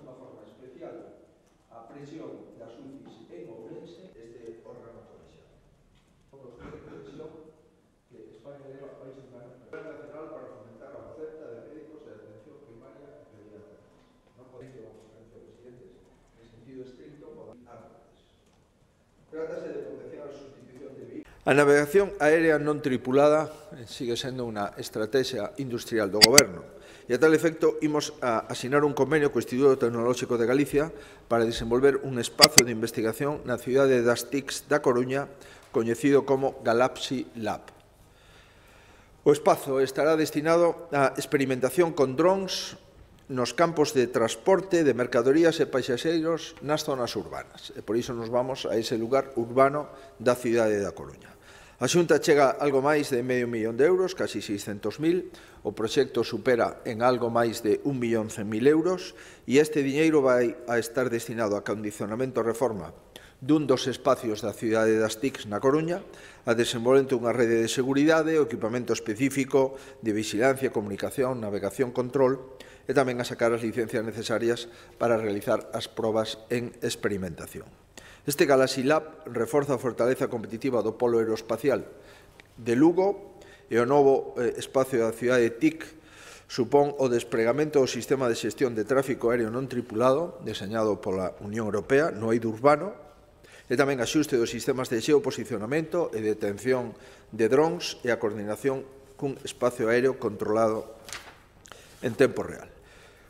unha forma especial a presión das UCIs en Ourense este órgano colexiado. Os de presión que España leva a países nacional para fomentar a oferta de médicos de atención primaria e pediátrica. Non podemos ir a conferencia de presidentes en sentido estricto o árboles. Trátase de potenciar a sustitución de vehículos. A navegación aérea non tripulada sigue sendo unha estrategia industrial do Goberno e a tal efecto imos a asinar un convenio co Instituto Tecnolóxico de Galicia para desenvolver un espazo de investigación na cidade das TICs da Coruña coñecido como Galaxy Lab. O espazo estará destinado a experimentación con drons nos campos de transporte de mercadorías e paixaxeiros nas zonas urbanas. E por iso nos vamos a ese lugar urbano da cidade da Coruña. A Xunta chega algo máis de €500.000, casi 600.000, o proxecto supera en algo máis de €1.100.000 e este diñeiro vai a estar destinado a condicionamento e reforma dun dos espacios da cidade das TICs na Coruña, a desenvolvemento dunha rede de seguridade, o equipamento específico de vigilancia, comunicación, navegación, control e tamén a sacar as licencias necesarias para realizar as probas en experimentación. Este Galaxy Lab reforza a fortaleza competitiva do polo aeroespacial de Lugo e o novo espacio da cidade de TIC supón o despregamento do sistema de xestión de tráfico aéreo non tripulado deseñado pola Unión Europea no eido urbano e tamén axuste dos sistemas de geoposicionamento e detención de drons e a coordinación cun espacio aéreo controlado en tempo real.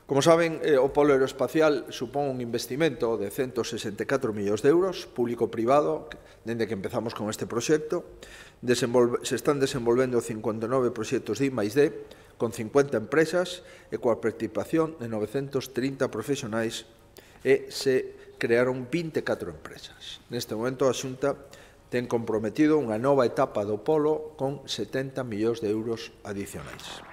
Como saben, o polo aeroespacial supón un investimento de €164 millóns, público-privado, dende que empezamos con este proxecto. Se están desenvolvendo 59 proxectos de I+D, con 50 empresas e coa participación de 930 profesionais e se crearon 24 empresas. Neste momento, a Xunta ten comprometido unha nova etapa do polo con €70 millóns adicionais.